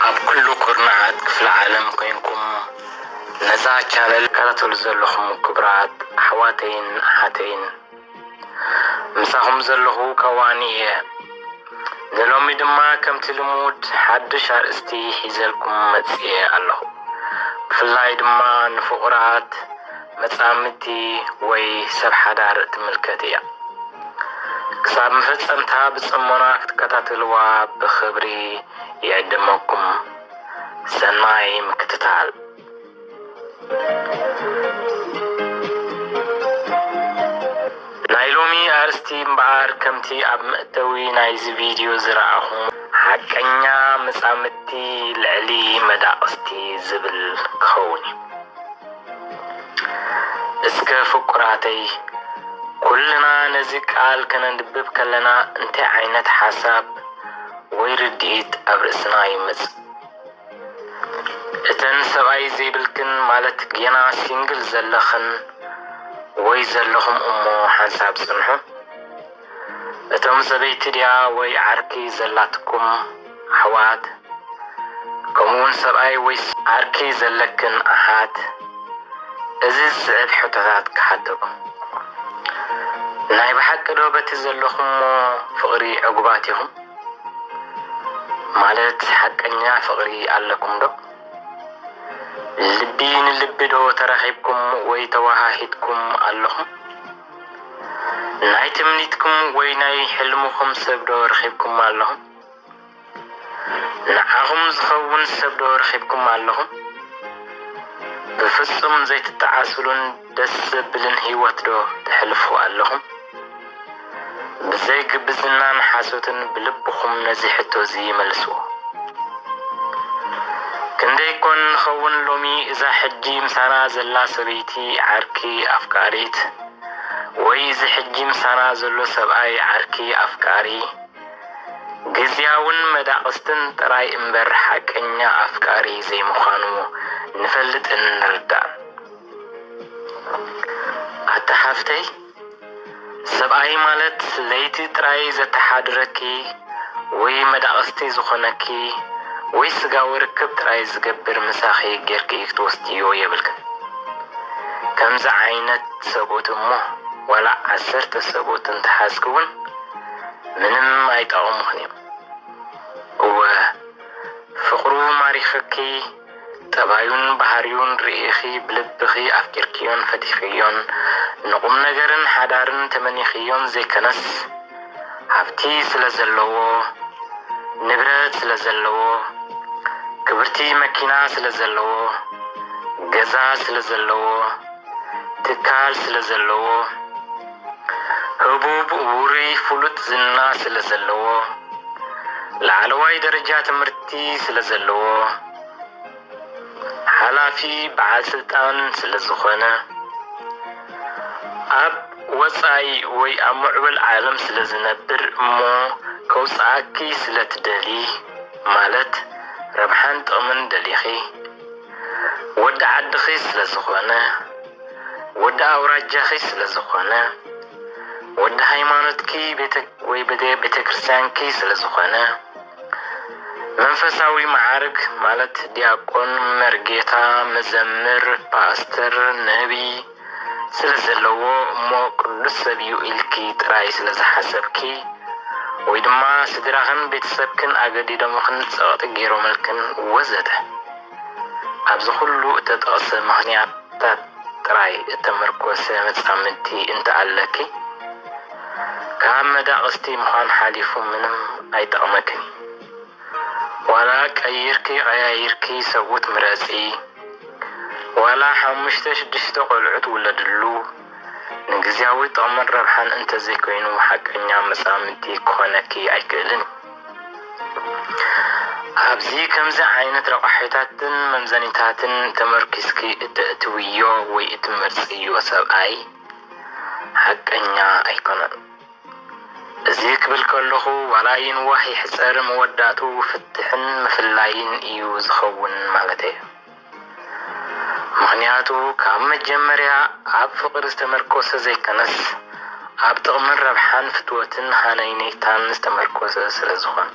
ኣብ ኩሉ ኩርናዓት ክፍለ ዓለም ኮይንኩም ነዛ ቻነል ትከታተሉ ዘለኹም ክቡራት ኣሕዋተይን ኣሓተይን፣ ምሳኹም ዘለኹ ከዋኒ እየ። ንሎሚ ድማ ከምቲ ልሙድ ሓድሽ ኣርእስቲ ሒዘልኩም መጽየ ኣለኹ። ብፍላይ ድማ ንፍቑራት መጻምድቲ ወይ ሰብ ሓዳር ትምልከት እያ። ክሳብ መፈጸምታ ብጽሞና ክትከታተልዋ ብኽብሪ ይዕድመኩም። ሰናይ ምክትታል። ናይ ሎሚ ኣርእስቲ እምበኣር ከምቲ ኣብ መእተዊ ናይዚ ቪድዮ ዝረኣኹም ሓቀኛ መጻምድቲ ልዕሊ መዳቕስቲ ዝብል ክኸውን እዩ። እስከ ፍቁራተይ፣ ኩልና ነዚ ቃል ከነንብብ ከለና እንታይ ዓይነት ሓሳብ ወይ ርድኢት ኣብ ርእስና ይመጽእ? እተን ሰብኣይ ዘይብልክን ማለት ጌና ሲንግል ዘለኽን ወይ ዘለኹም እሞ ሓንሳብ ጽንሑ። እቶም ሰበይቲ ድያ ወይ ዓርኪ ዘላትኩም ኣሕዋት፣ ከምኡውን ሰብኣይ ወይ ዓርኪ ዘለክን ኣሓት፣ እዚ ዝስዕብ ሕቶታት ክሓተኩም። ናይ ብሓቂ ዶ በቲ ዘለኹሞ ፍቕሪ ዕጉባት ኢኹም? ማለት ሓቀኛ ፍቕሪ ኣለኩም ዶ? ልቢ ንልቢ ዶ ተራኺብኩም ወይ ተወሃሂድኩም ኣለኹም? ናይ ትምኒትኩም ወይ ናይ ሕልምኹም ሰብ ዶ ረኺብኩም ኣለኹም? ንዓኹም ዝኸውን ሰብ ዶ ረኺብኩም ኣለኹም? ብፍጹም ዘይትጠዓስሉን ደስ ዘብልን ህይወት ዶ ተሕልፉ ኣለኹም? ብዘይ ግብዝናን ሓሶትን ብልብኹም ነዚ ሕቶ እዚ መልስዎ። ክንደይ ኮን ንኸውን ሎሚ እዛ ሕጂ ምሳና ዘላ ሰበይቲ ዓርኪ ኣፍቃሪት፣ ወይ እዚ ሕጂ ምሳና ዘሎ ሰብኣይ ዓርኪ ኣፍቃሪ፣ ግዝያውን መዳቕስትን ጥራይ እምበር ሓቀኛ ኣፍቃሪ ዘይምዃኑ ንፈልጥን ንርዳእን። ኣታ ሓፍተይ፣ ሰብኣይ ማለት ለይቲ ጥራይ ዘተሓድረኪ ወይ መዳቕስቲ ዝኾነኪ ወይ ስጋዊ ርክብ ጥራይ ዝገብር ምሳኺ ጌርኪ ክትወስድዮ የብልክን። ከምዚ ዓይነት ሰብኡት እሞ ዋላ ዓሰርተ ሰብኡት እንተሓዝኪ እውን ምንም ኣይጠቕሙኽን እዮም። እወ፣ ፍቕሩ ማሪኽኪ፣ ጠባዩን ባህሪዩን ርኢኺ ብልብኺ ኣፍቂርክዮን ፈቲኽዮን ንቁም ነገርን ሓዳርን ተመኒኽዮን ዘይከነስ፣ ሃብቲ ስለ ዘለዎ፣ ንብረት ስለ ዘለዎ፣ ክብርቲ መኪና ስለ ዘለዎ፣ ገዛ ስለ ዘለዎ፣ ትካል ስለ ዘለዎ፣ ህቡብ ውሩይ ፍሉጥ ዝና ስለ ዘለዎ፣ ላዕለዋይ ደረጃ ትምህርቲ ስለ ዘለዎ፣ ሓላፊ በዓል ስልጣን ስለ ዝኾነ፣ ኣብ ወጻኢ ወይ ኣብ ምዕቡል ዓለም ስለ ዝነብር እሞ ከውጽኣኪ ስለ ትደሊ፣ ማለት ረብሓን ጥቕምን ደሊኺ፣ ወዲ ዓድኺ ስለ ዝኾነ፣ ወዲ ኣውራጃኺ ስለ ዝኾነ፣ ወዲ ሃይማኖትኪ ቤተ ወይ ቤተ ቤተ ክርስቲያንኪ ስለ ዝኾነ፣ መንፈሳዊ መዓርግ ማለት ዲያቆን፣ መርጌታ፣ መዘምር፣ ፓስተር፣ ነቢይ ስለ ዘለዎ እሞ ቅዱስ ሰብ እዩ ኢልኪ ጥራይ ስለ ዝሓሰብኪ ወይ ድማ ስድራኽን ቤተሰብክን ኣገዲዶምኽን ጸቕጢ ገይሮምልክን ወዘተ። ኣብዚ ኩሉ እተጠቕሰ ምኽንያታት ጥራይ እተመርኮሰ መጻምድቲ እንተኣለኪ፣ ካብ መዳቕስቲ ምዃን ሓሊፉ ምንም ኣይጠቕመክን እዩ። ዋላ ቀይርኪ ቀያይርኪ ሰብኡት ምረጺ፣ ዋላ ሓሙሽተ ሽዱሽተ ቆልዑት ውለድሉ፣ ንግዝያዊ ጥቕምን ረብሓን እንተዘይኮይኑ ሓቀኛ መጻምድቲ ክኾነኪ ኣይክእልን። ኣብዚ ከምዚ ዓይነት ረቋሒታትን መምዘኒታትን ተመርኪስኪ እተእትውዮ ወይ እትመርጽዮ ሰብኣይ ሓቀኛ ኣይኮነን። እዚ ክብል ከለኹ ዋላ ይንዋሕ ይሕጸር መወዳእትኡ ፍትሕን ምፍላይን እዩ ዝኸውን ማለተይ እዩ። ምኽንያቱ ካብ መጀመርያ ኣብ ፍቕሪ ዝተመርኮሰ ዘይከነስ ኣብ ጥቕምን ረብሓን ፍትወትን ሃነይነይታን ዝተመርኮሰ ስለ ዝኾነ።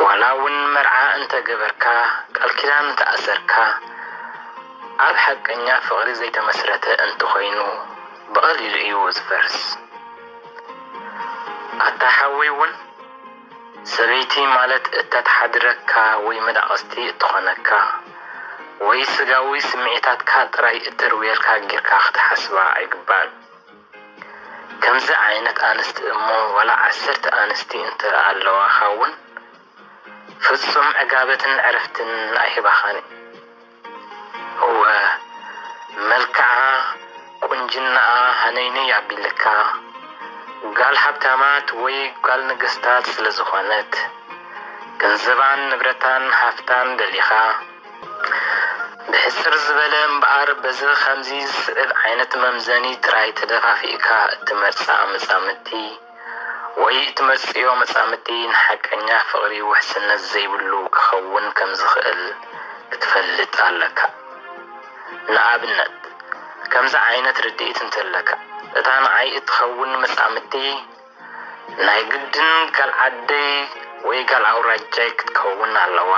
ዋላ እውን መርዓ እንተገበርካ፣ ቃል ኪዳን እንተኣሰርካ፣ ኣብ ሓቀኛ ፍቕሪ ዘይተመስረተ እንተኾይኑ፣ ብቐሊሉ እዩ ዝፈርስ። ኣታ ሓወይ እውን፣ ሰበይቲ ማለት እተትሓድረካ ወይ መዳቕስቲ እትኾነካ ወይ ስጋዊ ስምዒታትካ ጥራይ እተርውየልካ ጌርካ ክትሓስባ ኣይግባእን። ከምዚ ዓይነት ኣንስቲ እሞ ዋላ ዓሰርተ ኣንስቲ እንተ ኣለዋኻ እውን ፍጹም ዕጋበትን ዕረፍትን ኣይህባኻን። እወ፣ መልክዓ፣ ቁንጅናኣ ሃነይነይ ኣቢልካ፣ ጓል ሃብታማት ወይ ጓል ነገስታት ስለ ዝኾነት፣ ገንዘባን ንብረታን ሃፍታን ደሊኻ፣ ብሕጽር ዝበለ እምበኣር፣ በዚ ኸምዚ ዝስዕብ ዓይነት መምዘኒ ጥራይ ተደፋፊእካ እትመርጻ መጻምድቲ ወይ እትመርጽዮ መጻምድቲ ንሓቀኛ ፍቕሪ ውሕስነት ዘይብሉ ክኸውን ከም ዝኽእል ክትፈልጥ ኣለካ። ንኣብነት፣ ከምዚ ዓይነት ርድኢት እንተለካ፣ እታ ንዓይ እትኸውን መጻምድቲ ናይ ግድን ጋል ዓደይ ወይ ጋል ኣውራጃይ ክትከውን ኣለዋ።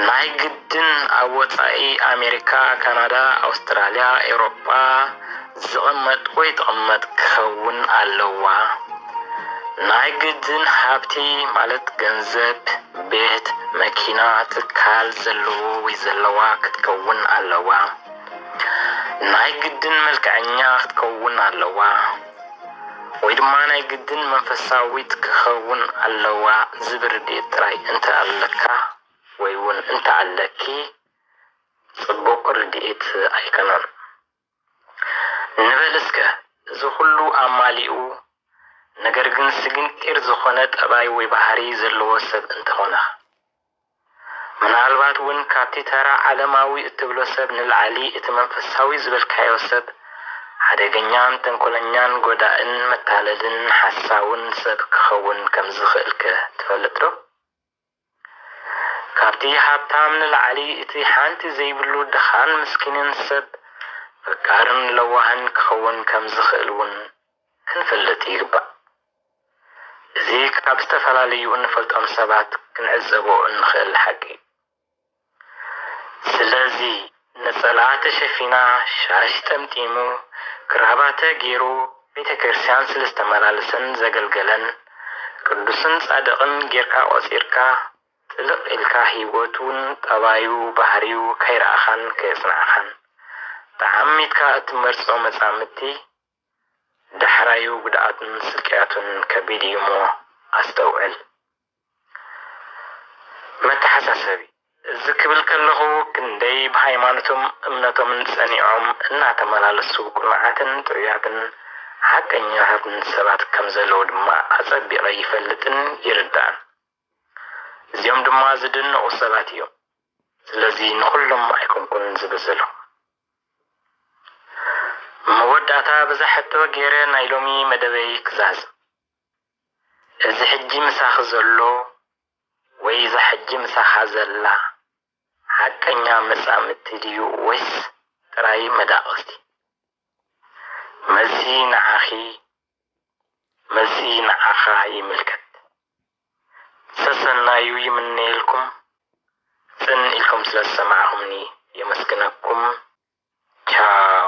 ናይ ግድን ኣብ ወጻኢ ኣሜሪካ፣ ካናዳ፣ ኣውስትራልያ፣ ኤውሮጳ ዝቕመጥ ወይ ትቕመጥ ክኸውን ኣለዋ። ናይ ግድን ሃብቲ ማለት ገንዘብ፣ ቤት፣ መኪና፣ ትካል ዘለዎ ወይ ዘለዋ ክትከውን ኣለዋ። ናይ ግድን መልክዐኛ ክትከውን ኣለዋ። ወይ ድማ ናይ ግድን መንፈሳዊት ክኸውን ኣለዋ ዝብል ርድኢት ጥራይ እንተ ኣለካ ወይ እውን እንተ ኣለኪ ጽቡቕ ርድኢት ኣይከነን። ንበል እስከ እዚ ኩሉ ኣማሊኡ ነገር ግን ስግንጢር ዝኾነ ጠባይ ወይ ባህሪ ዘለዎ ሰብ እንተኾነ ምናልባት እውን ካብቲ ተራ ዓለማዊ እትብሎ ሰብ ንላዕሊ እቲ መንፈሳዊ ዝበልካዮ ሰብ ሓደገኛን ተንኮለኛን ጎዳእን መታለልን ሓሳውን ሰብ ክኸውን ከም ዝኽእልከ ትፈልጥ ዶ? ካብቲ ሃብታም ንላዕሊ እቲ ሓንቲ ዘይብሉ ድኻን ምስኪንን ሰብ ፈቃርን ለዋህን ክኸውን ከም ዝኽእል እውን ክንፈልጥ ይግባእ። እዚ ካብ ዝተፈላለዩ እንፈልጦም ሰባት ክንዕዘቦ እንኽእል ሓቂ እዩ። ስለዚ ነጸላ ተሸፊና፣ ሻሽ ጠምጢሙ፣ ክራባተ ገይሩ፣ ቤተ ክርስቲያን ስለ ዝተመላለሰን ዘገልገለን ቅዱስን ጻድቕን ጌርካ ቆጺርካ፣ ጥልቕ ኢልካ ህይወቱን ጠባዩ ባህሪዩ ከይረኣኻን ከየጽናዕኻን ተዓሚትካ እትመርጾ መጻምድቲ ዳሕራዩ ጉድኣቱን ስቅያቱን ከቢድ እዩ እሞ ኣስተውዕል። መተሓሳሰቢ፣ እዚ ክብል ከለኹ ክንደይ ብሃይማኖቶም እምነቶምን ጸኒዖም እናተመላለሱ ቅኑዓትን ጥዑያትን ሓቀኛታትን ሰባት ከም ዘለዉ ድማ ኣጸቢቐ ይፈልጥን ይርዳእን። እዚኦም ድማ ዝድነቑ ሰባት እዮም። ስለዚ ንኹሎም ኣይኮንኩን ዝብል ዘለኹ። መወዳእታ በዛ ሕቶ ገይረ ናይ ሎሚ መደበይ ክዛዝም። እዚ ሕጂ ምሳኺ ዘሎ ወይ እዛ ሕጂ ምሳኻ ዘላ ሓቀኛ መጻምድቲ ድዩ ወይስ ጥራይ መዳቕስቲ? መልሲ ንዓኺ፣ መልሲ ንዓኻ ይምልከት። ሰሰናዩ ይምነየልኩም። ጽን ኢልኩም ስለ ዝሰማዕኹምኒ የመስግነኩም። ቻው።